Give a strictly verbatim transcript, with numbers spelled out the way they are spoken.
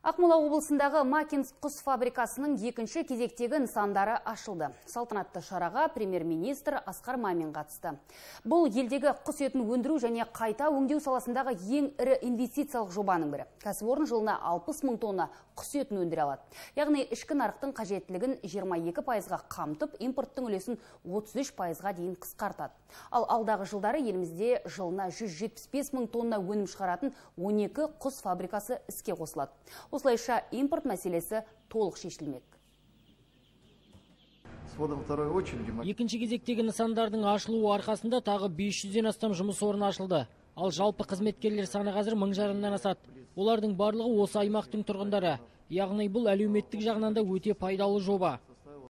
Ақмола облысындағы Макинск құс фабрикасының екінші кезектегі нысандары ашылды. Салтанатты шараға премьер-министр Асқар Мамин қатысты. Бұл елдегі құс етін өндіру және қайта өңдеу саласындағы ең ірі инвестициялық жобаның бірі. Кәсіпорын жылына алпыс мың тонна құс етін өндіре алады. Яғни ішкі нарықтың қажеттілігін жиырма екі пайызға қамтып, импорттың үлесін отыз үш пайызға дейін қысқартады. Ал алдағы жылдары елімізде жылына жүз жетпіс бес мың тонна өнім шығаратын он екі құс фабрикасы іске қосылады. Осылайша импорт мәселесі толық шешілмек. Екінші кезектегі нысандардың ашылуы арқасында тағы бес жүзден астам жұмыс орны ашылды. Ал жалпы қызметкерлер саны қазір мың жарымнан асады. Олардың барлығы осы аймақтың тұрғындары. Яғни бұл әлеуметтік жағынан да өте пайдалы жоба.